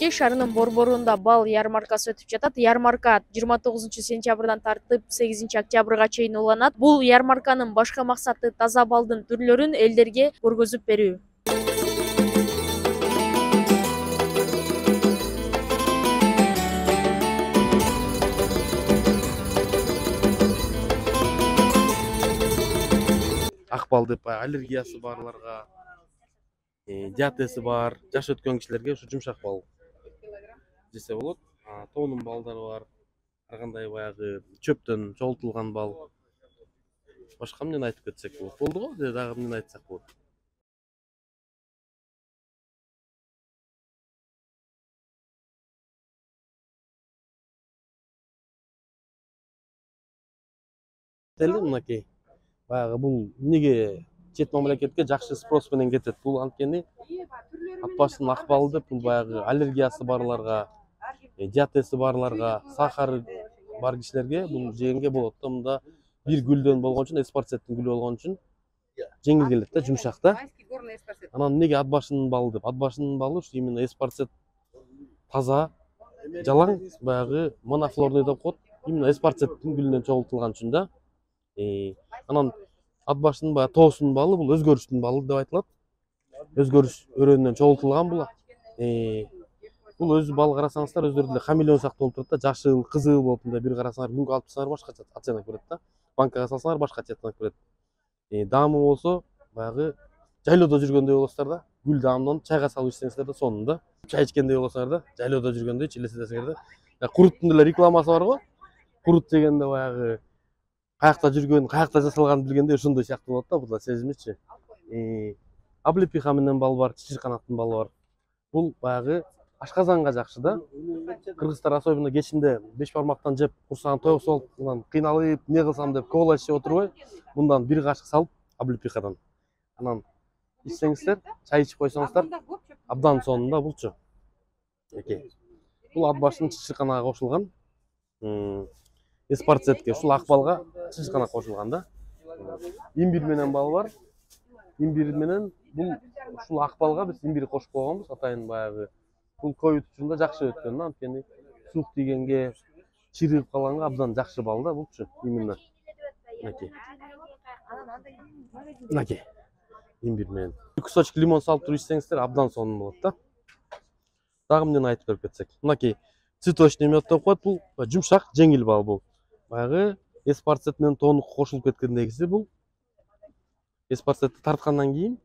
Бишкек шаарынын борборунда бал ярмаркасы өтүп жатат. Ярмарка 29-сентябрдан тартып 8-октябрга чейин уланат. Бул ярмарканын башкы максаты таза балдын түрлөрүн элдерге көргөзүп берүү. Ак бал деп аллергиясы барларга, диатези бар, жаш өткөн кишилерге ушу жумшак бал жесе болот. Тоонун балдары бар. Ар кандай баягы чөптөн чогултулган бал. Башка эмнени айтып кетсек болот? Болду го, же дагы эмнени айтсак болот? Мынакей. Баягы бул эмнеге чет мамлекетке жакшы спрос менен кетет? Бул анткени ат башынын ак балы деп бул баягы аллергиясы барларга, диатези барларга, сахары бар кишилерге бул жегенге болот да. Мында бир гүлдөн болгон үчүн, эспарцеттин гүлү болгон үчүн жеңил келет да, жумшак да. Анан эмнеге ат башынын балы деп? Ат башынын балы ушу именно эспарцет таза, жалаң, баягы монофлорный деп коет. Именно эспарцеттин гүлүнөн чогултулган үчүн да. Анан ат башынын баягы тоосунун балы бул өзгөрүштүн балы деп айтылат. Өзгөрүш өрөөнүнөн чогултулган бул. Бул өзү бал карасаңыздар өздөрү деле хамелеон сыяктуу болуп турат да, жашыл, кызыл болуп мындай бир карасаңар күнгө алып турсаңар башкача оттенок берет да. Банкага салсаңар башкача оттенок берет. Даамы болсо баягы жайлоодо жүргөндөй болосуздар да. Гүл даамын чайга салып ичсеңиздер да сонун да. Чай ичкендей болосуңар да, жайлоодо жүргөндөй элестетесиңер да. Куруттун деле рекламасы бар го. Курут дегенде баягы каякта жүргөн, каякта жасалганын билгенде ошондой сыяктуу болот да, бул да сезимичи. Облепиха менен бал бар, чычырканактын балы бар. Бул баягы ашказанга жакшы да. Кыргыздар особенно кечинде 5 бармактан жеп, курсагын тоюксуп алып, анан кыйналып, эмне кылсам деп ковалаш жеп отурбай, мындан бир кашык салып, облепихадан. Анан ичсеңиздер, чай ичип койсоңуздар, абдан сонун да булчу. Бул ат башынын чычырканага кошулган. Эспарцетке, ушул ак балга чычырканак кошулган да. Имбир менен бал бар. Имбир менен бул ушул ак балга биз имбир кошуп койгонбуз, атайын баягы. Бул ковид учурунда жакшы өткөн да, анткени суук тийгенге, чиригип калганга абдан жакшы бал да булчу. Именно. Мынакей. Имбир менен. Кусочек лимон салып туруп ичсеңиздер абдан сонун болот да. Дагы эмнени айтып берип кетсек. Мынакей цветочный мед деп коет, бул жумшак, жеңил бал бул. Баягы эспарцет менен тоонук кошулуп кеткендегиси бул. Эспарцетти тарткандан кийин,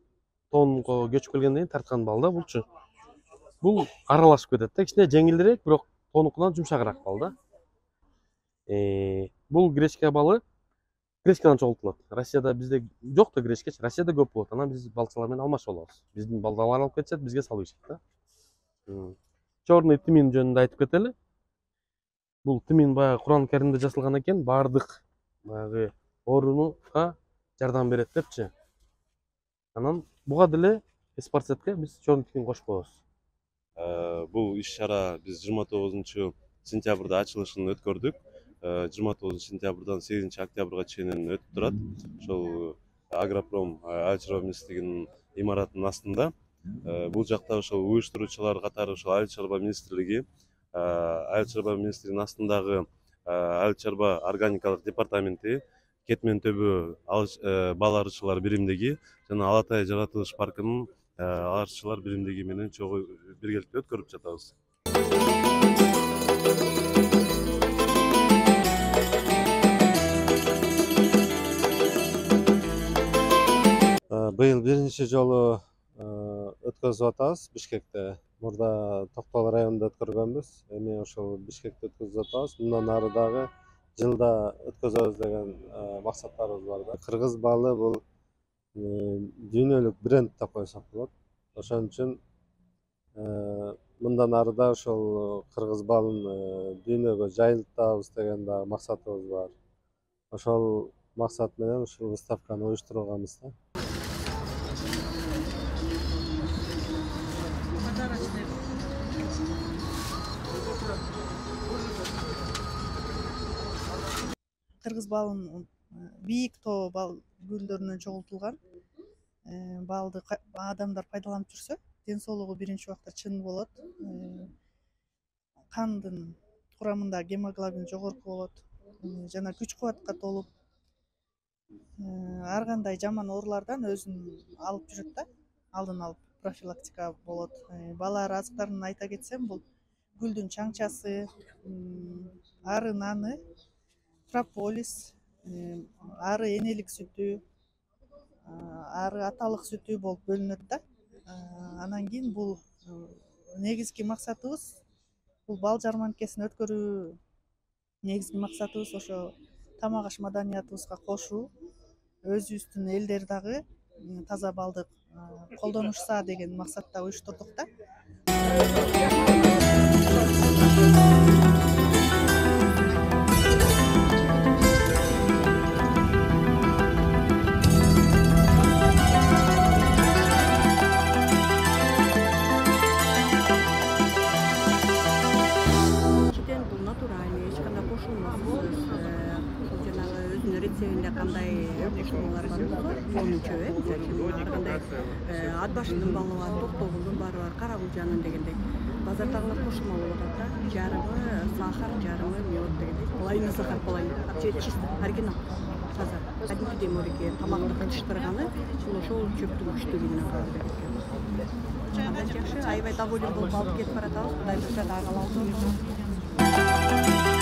тоонукка көчүп келгенден кийин тарткан бал да булчу. Бул аралашып кетет да, кичине жеңилирээк, бирок тоонукунан жумшагыраак бал да. Бул гречка балы гречкадан чогултулат. Россияда бизде жок да гречкачы, Россияда көп болот. Анан биз балчалар менен алмашып алабыз. Биздин балдарлар алып кетишет, бизге салып ичет да. Чёрный тмин жөнүндө айтып кетели. Бул тмин баягы Куран Каримде жазылган экен, бардык баягы оорунуга жардам берет депчи. Анан буга деле эспарцетке биз чёрный тмин кошуп коебуз. Бул иш-чара биз 29-сентябрда ачылышын өткөрдүк. 29-сентябрдан 8-октябрга чейин өтүп турат. Ошол Агропром Айыл чарба министрлигинин имаратынын астында. Бул жакта ошол уюштуруучулар катары ошол Айыл чарба министрлигинин астындагы Айыл чарба органикалык департаменти, Кетмен төбө бал арычылар биримдиги жана Алатай жаратылыш паркынын арычылар биримдиги менен чогуу биргеликте өткөрүп жатабыз. Быйыл биринчи жолу өткөзүп атабыз Бишкекте. Мурда Токтол районунда өткөргөнбүз. Эми ошол Бишкекте өткөзүп атабыз. Мындан ары дагы жылда өткөзөбүз деген максаттарыбыз бар да. Кыргыз балы бул дүйнөлүк бренд деп койсок болот. Ошон үчүн мындан ары да ошол кыргыз балын дүйнөгө жайылтабыз деген дагы максатыбыз бар. Ошол максат менен ушул выставканы уюштурганбыз да. Кыргыз балынын бийик тоо бал гүлдөрүнөн чогултулган балды адамдар пайдаланып жүрсө, ден соолугу биринчи убакта чың болот. кандын курамында гемоглобин жогорку болот жана күч кубатка толуп ар кандай жаман оорулардан өзүн алып жүрөт да, алдын алып профилактика болот. Балаар азыктарын айта кетсем, бул гүлдүн чаңчасы, ары наны, прополис, ары энелик сүтү, ары аталык сүтү болуп бөлүнөт да. Анан кийин бул негизги максатыбыз бул бал жарманкесин өткөрүү. Негизги максатыбыз ошо тамак аш маданиятыбызга кошуу, өзүбүздүн элдер дагы таза балды колдонушса деген максатта уюштурдук да. Бул натуральный, эч кандай кошулмасыз, жанагы өзүнүн рецептинде кандай кошулмалар бар болсо, сонунча ар кандай ат башынын балы бар, токтобулдун баары бар, кара кулжанын дегендей. Базардагылар кошулма болуп атат да, жарымы сахар, жарымы мед дегендей. Половина сахар, половина чисто оригинал, таза. Кадимкидей мореке тамакты кытыштырганы, ошол чөптүн күчтүүлүгүнөн калып экен. Андан жакшы, аябай доволен болуп алып кетип баратабыз, Кудай буюрса дагы калабыз.